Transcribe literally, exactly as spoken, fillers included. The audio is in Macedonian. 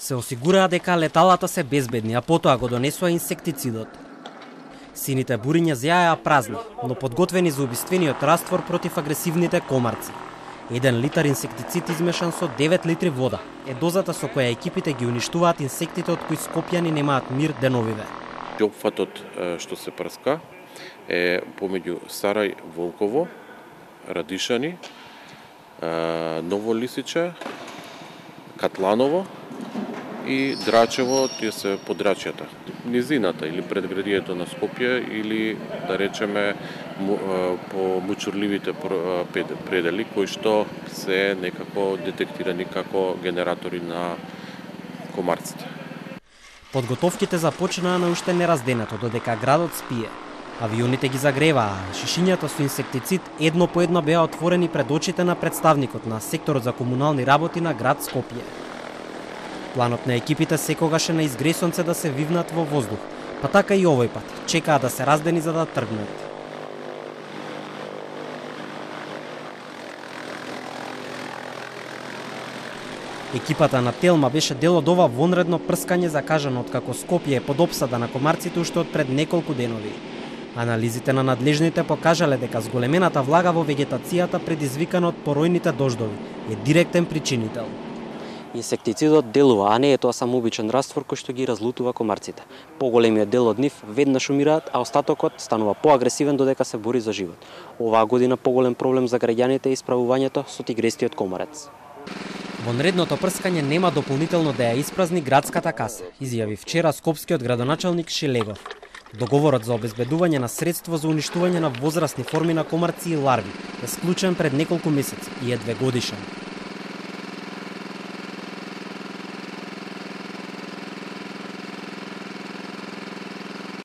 се осигураа дека леталата се безбедни, а потоа го донесоа инсектицидот. Сините буриња зеаја празни, но подготвени за убиствениот раствор против агресивните комарци. Еден литар инсектицид измешан со девет литри вода е дозата со која екипите ги уништуваат инсектите од кои скопјани немаат мир деновиве. Опфатот што се прска е помеѓу Сарај, Волково, Радишани, Ново Лисиче, Катланово и Драчево, тие се подрачјата. Низината или предградието на Скопје или, да речеме, по мучурливите предели, кои што се некако детектирани како генератори на комарците. Подготовките започнаа на уште неразденато, додека градот спие. Авионите ги загреваа, шишињата со инсектицид едно по едно беа отворени пред очите на представникот на секторот за комунални работи на град Скопје. Планот на екипите секогаш е на изгресонце да се вивнат во воздух, па така и овој пат, чекаа да се раздени за да тргнат. Екипата на Телма беше дел од ова вонредно прскање закажано откако Скопје е под опсада на комарците уште од пред неколку денови. Анализите на надлежните покажале дека зголемената влага во вегетацијата предизвикана од поројните дождови е директен причинител. Инсектицидот делува, а не е тоа само обичен раствор кој што ги разлутува комарците. Поголемиот дел од нив веднаш умираат, а остатокот станува поагресивен додека се бори за живот. Оваа година поголем проблем за граѓаните е исправувањето со тигрестиот комарец. Вонредното прскање нема дополнително да ја испразни градската каса, изјави вчера скопскиот градоначалник Шелегов. Договорот за обезбедување на средство за уништување на возрастни форми на комарци и ларви е склучен пред неколку месеци и е двегодишен.